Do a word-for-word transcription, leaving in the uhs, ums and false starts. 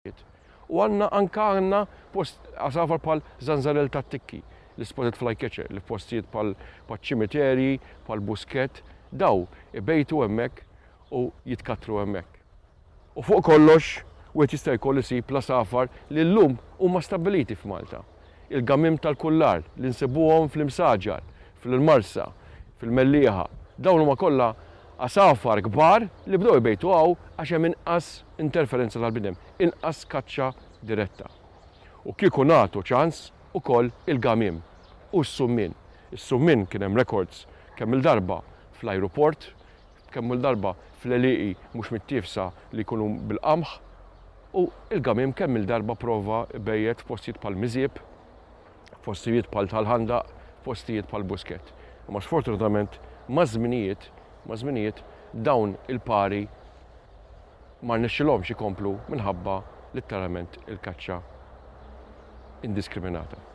U għandna anka għandna post għasafar bħal żanżarell tat-tikki, l-spotted flycatcher, li postijiet bħal ċimiterji, bħal Buskett, daw ibejtu hemmhekk u jitkattru hemmhekk. U fuq kollox, wieħed jista' jkollu isib l-għasafar li llum huma stabbiliti f'Malta. Il-gamiem tal-kullar li nsibuhom fl-Imsaġar, fil-Marsa, fil-Mellieħa. Dawn huma kollha għasafar kbar li bdew ibejtu hawn għax hemm inqas interferenza tal-bniedem, inqas kaċċa diretta. U kieku nagħtu ċans ukoll il-gamiem u s-summien. Is-summien kien hemm records kemm il-darba fl-ajruport, kemm il-darba fl-għelieqi mhux mittiefsa li jkunu bil-qamħ, u il-gamiem kemm il-darba prova bejjet f'postijiet bħal Miżieb, postijiet bħal Tal-Ħandaq, postijiet bħal Buskett. Imma sfortunatament maż-żminijiet, maż-żminijiet dawn il-pari ma rnexxilhomx ikomplu minħabba letteralment il-kaċċa indiskriminata.